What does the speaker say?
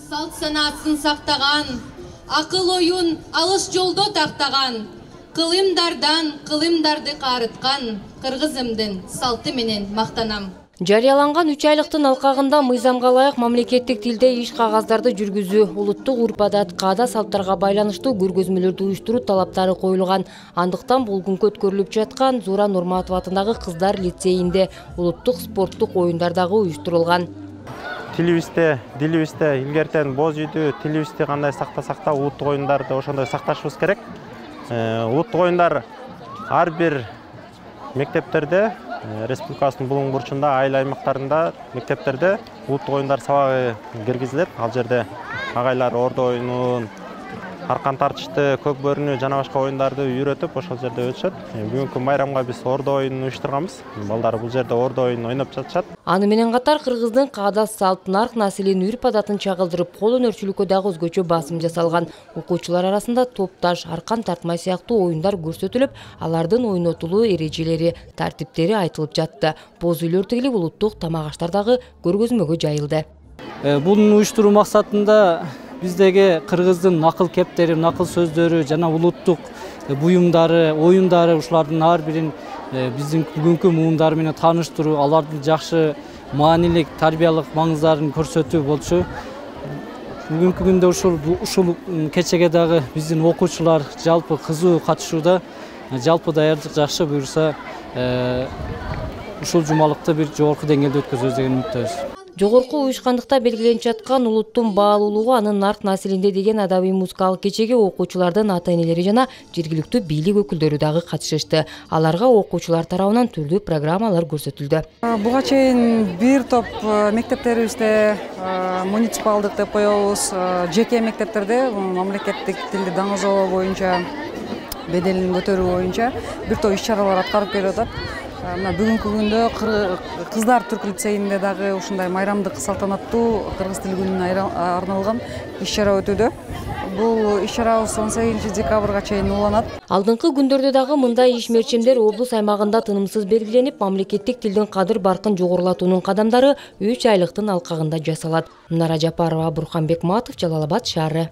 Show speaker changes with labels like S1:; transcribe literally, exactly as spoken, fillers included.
S1: салт санаасын сактаган, акыл оюн алыс жолдо тактаган, кылымдардан кылымдарды карыткан кыргызымдын салты менен мактанам.
S2: Жарыяланган үч айлыктын алкагында мыйзамга ылайык мамлекеттик тилде иш кагаздарды жүргүзүү, улуттук урп-адат, каада салттарга байланыштуу көргөзмөлөрдү уюштуруу талаптары коюлган. Андыктан болгүнкү өткөрүлүп жаткан Зуура Нурматова атындагы кыздар лицейинде улуттук спорттук оюндар дагы уюштурулган.
S3: Тилибизде, дилибизде илгертен боз үйдү, тилибизди кандай сактасак да улуттук оюндарды ошондой сакташыбыз керек. Улуттук оюндар ар бир мектептерде, республикасынын булуң бурчунда, айыл аймактарында, мектептерде улуттук оюндар сабагы киргизилет. Ал жерде агайлар ордо оюнун, аркан тартышты, көк бөрүнү жана башка оюндарды үйрөтүп, ошол жерде өтүшөт. Бүгүнкү майрамга биз ордо оюнун уюштурганбыз. Балдар бул жерде ордо оюнун ойноп жатышат.
S2: Аны менен катар кыргыздын каада салт, нарк населин, үрп-адатын чагылдырып, кол өнөрчүлүккө дагы өзгөчө басым жасалган. Окуучулар арасында топ таш, аркан тартмай сыяктуу оюндар көрсөтүлүп, алардын ойнотулуу эрежелери, тартиптери айтылып жатты. Боз үйлөр тигилип, улуттук тамак аштар дагы көргөзмөгө жайылды.
S4: Буну уюштуруу максатында биздеги кыргыздын накыл кептери, накыл сөздөрү жана улуттук буюмдары, оюндары ушулардын ар бирин биздин бүгүнкү муумдары менен тааныштыруу, алардын жакшы маанилик, тарбиялык маңыздарын көрсөтүү болчу. Бүгүнкү күндө ушул ушул кечеге дагы биздин окуучулар жалпы кызуу катышууда. Жалпы даярдык жакшы, буюрса ушул жумалыкты бир жогорку деңгээлде өткөзөбүз деген үмүттөбүз.
S2: Жогорку уюшкандыкта белгиленип жаткан улуттун баалуулугу анын нарк населинде деген адабий музыкалык кечеге окуучулардын ата-энелери жана жергиликтүү бийлик өкүлдөрү дагы катышышты. Аларга окуучулар тарабынан түрдүү программалар көрсөтүлдү.
S5: Буга чейин бир топ мектептерибизде, муниципалдык деп коебуз, жеке мектептерде мамлекеттик тилди даңазалоо боюнча, беделин көтөрүү боюнча бир топ иш-чаралар аткарып келип атат. Мына бүгүнкү күндө кыздар түрк лицейинде дагы ушундай майрамдык салтанаттуу кыргыз тил күнүнө арналган иш-чара өтүүдө. Бул иш-чарабыз он сегизинчи декабрга чейин уланат.
S2: Алдыңкы күндөрдө дагы мындай иш-мерчемдер облус аймагында тынымсыз белгиленип, мамлекеттик тилдин кадыр баркын жогорулатуунун кадамдары үч айлыктын алкагында жасалат. Нара Жапарова, Бурханбек Матов, Жалал Абад шаары.